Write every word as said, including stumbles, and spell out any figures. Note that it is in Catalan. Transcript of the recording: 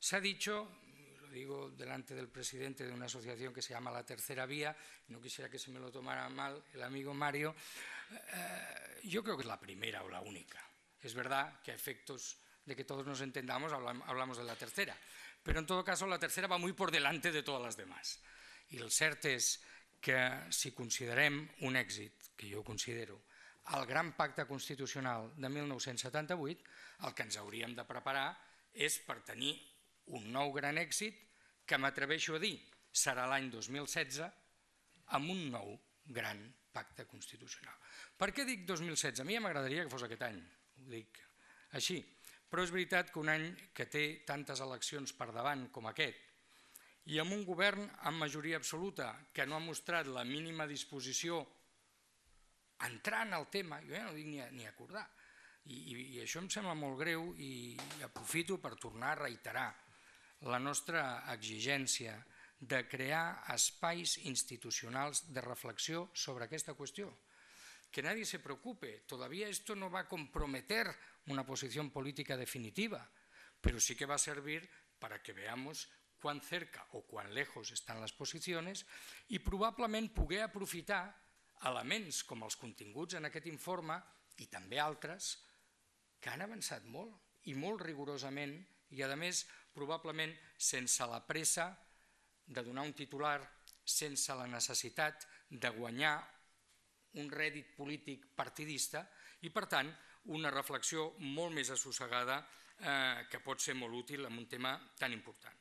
Se ha dicho, lo digo delante del presidente de una asociación que se llama La Tercera Vía, no quisiera que se me lo tomara mal el amigo Mario, eh, yo creo que es la primera o la única. Es verdad que a efectos de que todos nos entendamos hablamos de la tercera, pero en todo caso la tercera va muy por delante de todas las demás. I el cert és que si considerem un èxit, que jo considero, el gran pacte constitucional de mil nou-cents setanta-vuit, el que ens hauríem de preparar és per tenir un nou gran èxit que m'atreveixo a dir serà l'any dos mil setze amb un nou gran pacte constitucional. Per què dic dos mil setze? A mi m'agradaria que fos aquest any, ho dic així, però és veritat que un any que té tantes eleccions per davant com aquest i amb un govern amb majoria absoluta que no ha mostrat la mínima disposició entrant al tema, jo ja no dic ni acordar, i això em sembla molt greu i aprofito per tornar a reiterar la nostra exigència de crear espais institucionals de reflexió sobre aquesta qüestió. Que nadie se preocupe, todavía esto no va a comprometer una posición política definitiva, pero sí que va a servir para que veamos cuán cerca o cuán lejos están las posiciones i probablement poder aprofitar elements com els continguts en aquest informe i també altres que han avançat molt i molt rigorosament i a més probablement sense la pressa de donar un titular, sense la necessitat de guanyar un rèdit polític partidista i per tant una reflexió molt més assossegada que pot ser molt útil en un tema tan important.